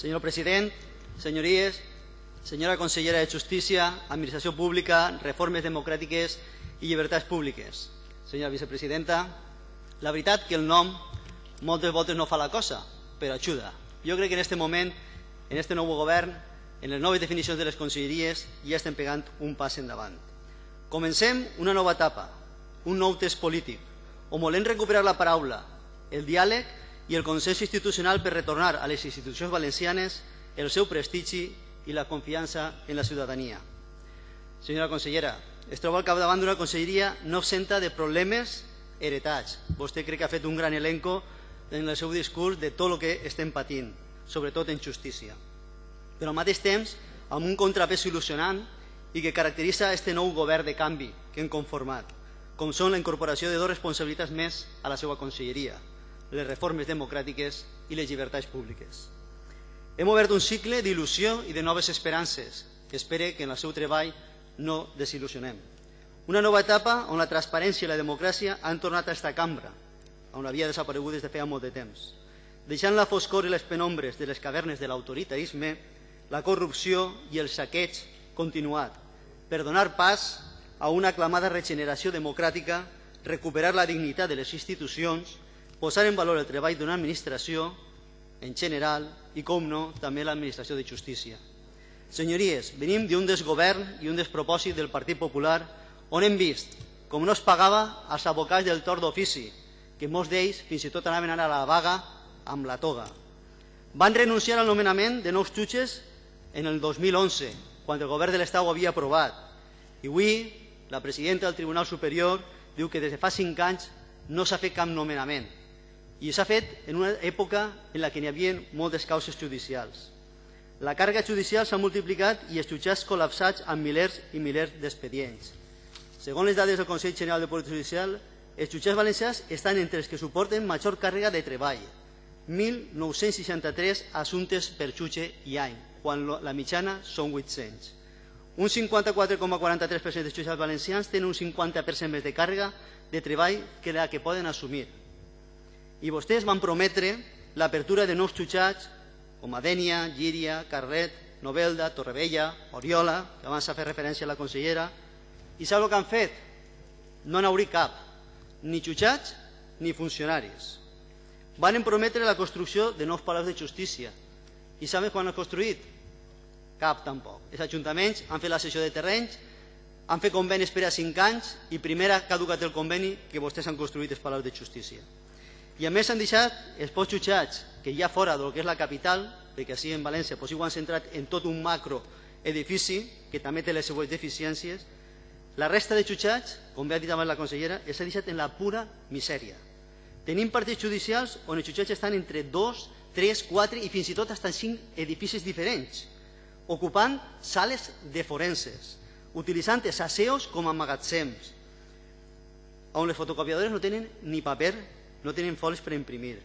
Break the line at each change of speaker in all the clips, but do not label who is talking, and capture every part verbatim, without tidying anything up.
Senyor president, senyories, senyora consellera de Justícia, Administració Pública, Reformes Democràtiques i Llibertats Públiques. Senyora vicepresidenta, la veritat que el nom moltes voltes no fa la cosa, però ajuda. Jo crec que en aquest moment, en aquest nou govern, en les noves definicions de les conselleries, ja estem pegant un pas endavant. Comencem una nova etapa, un nou test polític, on volem recuperar la paraula, el diàleg i el consens institucional per retornar a les institucions valencianes el seu prestigi i la confiança en la ciutadania. Senyora consellera, es troba al capdavant d'una conselleria no absenta de problemes heretats. Vostè crec que ha fet un gran elenco en el seu discurs de tot el que estem patint, sobretot en justícia. Però al mateix temps, amb un contrapès il·lusionant i que caracteritza aquest nou govern de canvi que hem conformat, com són la incorporació de dues responsabilitats més a la seva conselleria, les reformes democràtiques i les llibertats públiques. Hem obert un cicle d'il·lusió i de noves esperances, que espere que en el seu treball no desil·lusionem. Una nova etapa on la transparència i la democràcia han tornat a esta cambra, on havia desaparegut des de feia molt de temps, deixant la foscor i les penombres de les cavernes de l'autoritarisme, la corrupció i el saqueig continuat, per donar pas a una aclamada regeneració democràtica, recuperar la dignitat de les institucions, posar en valor el treball d'una administració en general i, com no, també l'administració de justícia. Senyories, venim d'un desgovern i un despropòsit del Partit Popular on hem vist com no es pagava als advocats del torn d'ofici, que molts d'ells fins i tot anaven a la vaga amb la toga. Van renunciar al nomenament de nous jutges en el dos mil onze, quan el govern de l'Estat ho havia aprovat. I avui la presidenta del Tribunal Superior diu que des de fa cinc anys no s'ha fet cap nomenament. I s'ha fet en una època en la que n'hi havia moltes causes judicials. La càrrega judicial s'ha multiplicat i els jutjats col·lapsats amb milers i milers d'expedients. Segons les dades del Consell General de Poder Judicial, els jutjats valencians estan entre els que suporten major càrrega de treball, mil nou-cents seixanta-tres assumptes per jutge i any, quan la mitjana són vuit-cents. Un cinquanta-quatre coma quaranta-tres per cent dels jutjats valencians tenen un cinquanta per cent més de càrrega de treball que la que poden assumir. I vostès van prometre l'apertura de nous jutjats com a Dénia, Llíria, Carlet, Novelda, Torrevella, Oriola, que abans s'ha fet referència a la consellera, i sap el que han fet? No n'hauria cap, ni jutjats ni funcionaris. Van prometre la construcció de nous palaus de justícia. I saben quan han construït? Cap tampoc. Els ajuntaments han fet la cessió de terrenys, han fet convenis per a cinc anys i primer ha caducat el conveni que vostès han construït els palaus de justícia. I a més han deixat els pocs jutjats que hi ha fora del que és la capital, perquè així en València ho han centrat en tot un macroedifici que també té les seues deficiències. La resta de jutjats, com bé ha dit abans la consellera, s'ha deixat en la pura misèria. Tenim partits judicials on els jutjats estan entre dos, tres, quatre i fins i tot fins cinc edificis diferents, ocupant sales de forenses, utilitzant els aseos com a magatzems, on les fotocopiadores no tenen ni paper, no tenen folis per imprimir,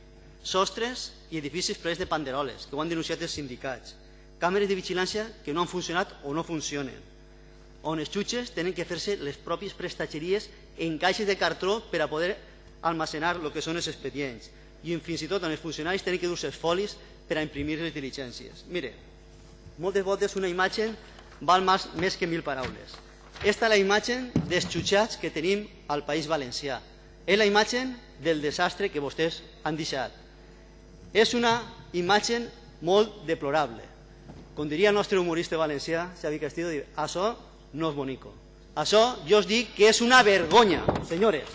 sostres i edificis plens de panderoles, que ho han denunciat els sindicats, càmeres de vigilància que no han funcionat o no funcionen, on els jutges tenen que fer-se les pròpies prestatgeries en caixes de cartró per a poder almacenar el que són els expedients, i fins i tot on els funcionaris tenen que dur-se els folis per a imprimir les diligències. Mire, moltes voltes una imatge val més que mil paraules. Esta és la imatge dels jutjats que tenim al País Valencià. És la imatge del desastre que vostès han deixat. És una imatge molt deplorable. Com diria el nostre humorista valencià, Xavi Castillo, això no és bonico. Això jo us dic que és una vergonya, senyores.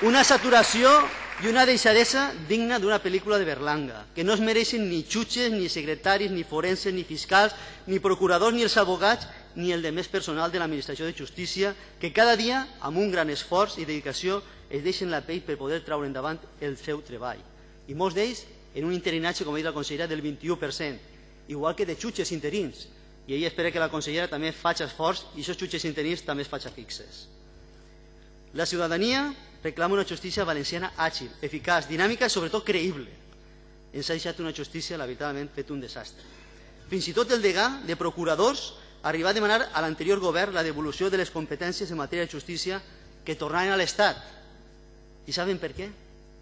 Una saturació i una deixadesa digna d'una pel·lícula de Berlanga, que no es mereixen ni jutges, ni secretaris, ni forenses, ni fiscals, ni procuradors, ni els advocats, ni el de més personal de l'administració de justícia, que cada dia, amb un gran esforç i dedicació, es deixen la pell per poder treure endavant el seu treball. I molts d'ells en un interinatge, com ha dit la consellera, del vint-i-u per cent, igual que de jutges interins. I ella espera que la consellera també faci esforç i aquests jutges interins també es facin fixes. La ciutadania reclama una justícia valenciana àgil, eficaç, dinàmica i sobretot creïble. Ens ha deixat una justícia, la veritablement, fet un desastre. Fins i tot el degà de procuradors arribar a demanar a l'anterior govern la devolució de les competències en matèria de justícia que tornaven a l'Estat. I saben per què?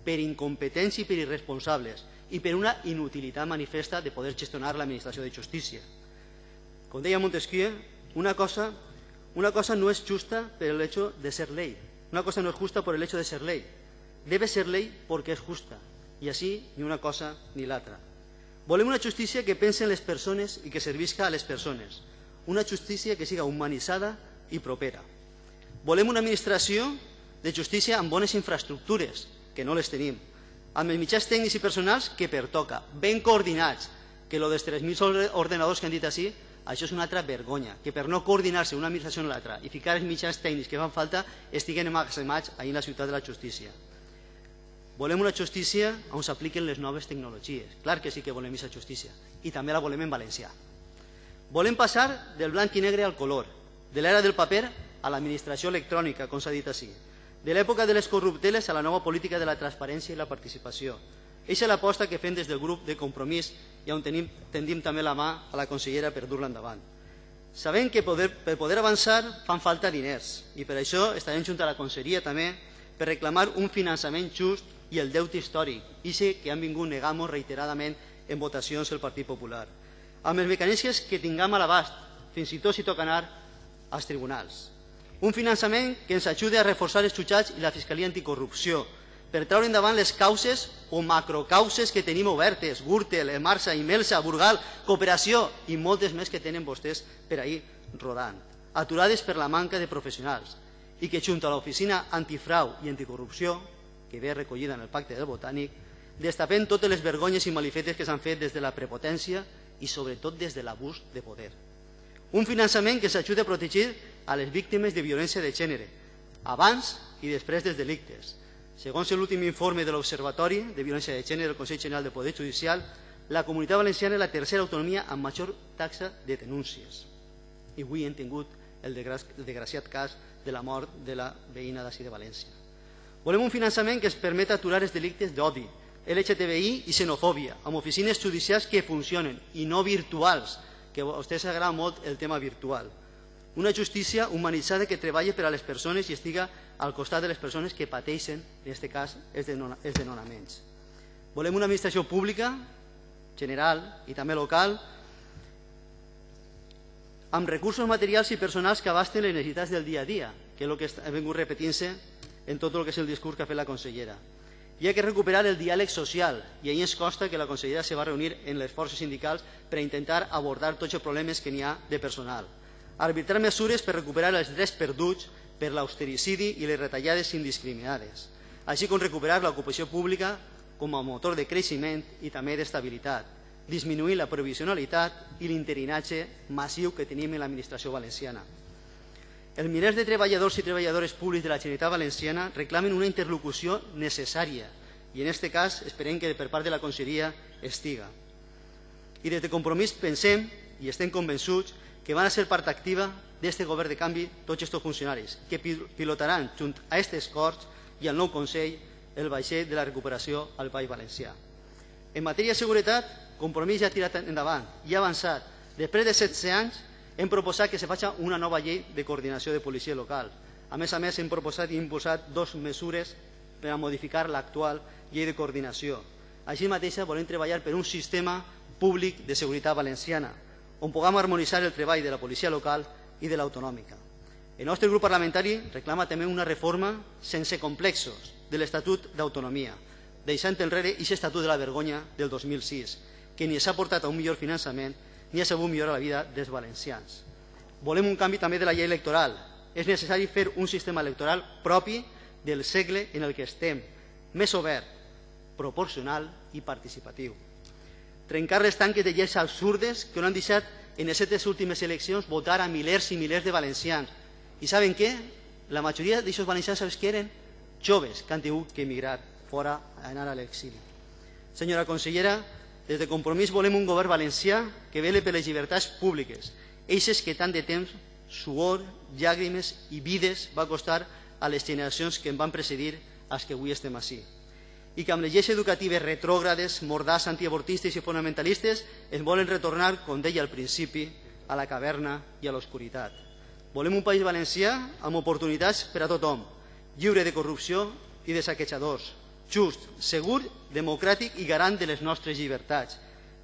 per incompetents i per irresponsables i per una inutilitat manifesta de poder gestionar l'administració de justícia. Com deia Montesquieu, una cosa, una cosa no es justa por el hecho de ser ley. Una cosa no es justa por el hecho de ser ley. Debe ser ley porque es justa. I així ni una cosa ni l'altra. Volem una justícia que pense en les persones i que servisca a les persones. Una justícia que siga humanitzada i propera. Volem una administració de justícia amb bones infraestructures, que no les tenim, amb els mitjans tècnics i personals que pertoca, ben coordinats, que lo dels tres mil ordenadors que han dit així, això és una altra vergonya, que per no coordinar-se una administració en l'altra i ficar els mitjans tècnics que fan falta estiguen emmagatzemats ahir en la ciutat de la justícia. Volem una justícia on s'apliquen les noves tecnologies. Clar que sí que volem aquesta justícia. I també la volem en valencià. Volem passar del blanc i negre al color, de l'era del paper a l'administració electrònica, com s'ha dit així, de l'època de les corrupteles a la nova política de la transparència i la participació. Eixa és l'aposta que fem des del grup de Compromís i on tenim, tendim també la mà a la consellera per dur-la endavant. Sabem que poder, per poder avançar fan falta diners i per això estarem junt a la conselleria també per reclamar un finançament just i el deute històric, i sé que han vingut negant-nos reiteradament en votacions el Partit Popular, amb els mecanismes que tinguem a l'abast, fins i tot si toca anar als tribunals. Un finançament que ens ajudi a reforçar els jutjats i la Fiscalia Anticorrupció, per treure endavant les causes o macrocauses que tenim obertes, Gürtel, Emarsa, Imelsa, Burgal, Cooperació i moltes més que tenen vostès per ahir rodant, aturades per la manca de professionals, i que junt a l'Oficina Antifrau i Anticorrupció, que ve recollida en el Pacte del Botànic, destapem totes les vergonyes i malifetes que s'han fet des de la prepotència i sobretot des de l'abús de poder. Un finançament que s'ajuda a protegir a les víctimes de violència de gènere, abans i després dels delictes. Segons l'últim informe de l'Observatori de Violència de Gènere del Consell General del Poder Judicial, la Comunitat Valenciana és la tercera autonomia amb major taxa de denúncies. I avui hem tingut el desgraciat cas de la mort de la veïna d'ací de València. Volem un finançament que ens permeta aturar els delictes d'odi, L G T B I i xenofòbia, amb oficines judicials que funcionen i no virtuals, que a vostès agrada molt el tema virtual. Una justícia humanitzada que treballi per a les persones i estiga al costat de les persones que pateixen, en aquest cas, els desnonaments. Volem una administració pública, general i també local, amb recursos materials i personals que abasten les necessitats del dia a dia, que és el que ha vingut repetint-se en tot el que és el discurs que ha fet la consellera. Hi ha que recuperar el diàleg social i ahir ens consta que la consellera se va reunir en les forces sindicals per intentar abordar tots els problemes que n'hi ha de personal. Arbitrar mesures per recuperar els drets perduts per l'austericidi i les retallades indiscriminades, així com recuperar l'ocupació pública com a motor de creixement i també d'estabilitat, disminuir la provisionalitat i l'interinatge massiu que tenim en l'administració valenciana. Els milers de treballadors i treballadores públics de la Generalitat Valenciana reclamen una interlocució necessària i en aquest cas esperem que per part de la conselleria estiga. I des de Compromís pensem i estem convençuts que van a ser part activa d'aquest govern de canvi tots aquests funcionaris que pilotaran junt a aquestes Corts i al nou Consell el vaixell de la recuperació al País Valencià. En matèria de seguretat, Compromís ja ha tirat endavant i ha avançat. Després de setze anys hem proposat que se faci una nova llei de coordinació de policia local. A més a més, hem proposat i impulsat dues mesures per a modificar l'actual llei de coordinació. Així mateix, volem treballar per un sistema públic de seguretat valenciana, on puguem harmonitzar el treball de la policia local i de l'autonòmica. El nostre grup parlamentari reclama també una reforma sense complexos de l'Estatut d'Autonomia, deixant enrere aquest Estatut de la Vergonya del dos mil sis, que ni s'ha portat a un millor finançament ni ha sabut millorar la vida dels valencians. Volem un canvi també de la llei electoral. És necessari fer un sistema electoral propi del segle en el que estem, més obert, proporcional i participatiu. Trencar les tanques de lleis absurdes que no han deixat en aquestes últimes eleccions votar a milers i milers de valencians. I saben què? La majoria d'aquests valencians, sabeu què eren? Joves que han tingut que emigrar fora a anar a l'exili. Senyora consellera, des de Compromís volem un govern valencià que vele per les llibertats públiques, eixes que tant de temps, suor, llàgrimes i vides va costar a les generacions que em van precedir als que avui estem ací. I que amb les lleis educatives retrògrades, mordars, antiavortistes i fonamentalistes es volen retornar, com deia al principi, a la caverna i a l'oscuritat. Volem un país valencià amb oportunitats per a tothom, lliure de corrupció i de saquejadors, just, segur, democràtic i garant de les nostres llibertats,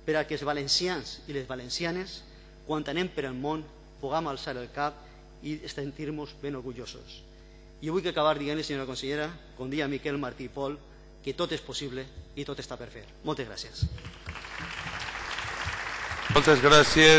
per a que els valencians i les valencianes, quan anem per el món, puguem alçar el cap i sentir-nos ben orgullosos. I vull acabar dient-li, senyora consellera, com dia Miquel Martí i Pol, que tot és possible i tot està per fer. Moltes gràcies.
Moltes gràcies.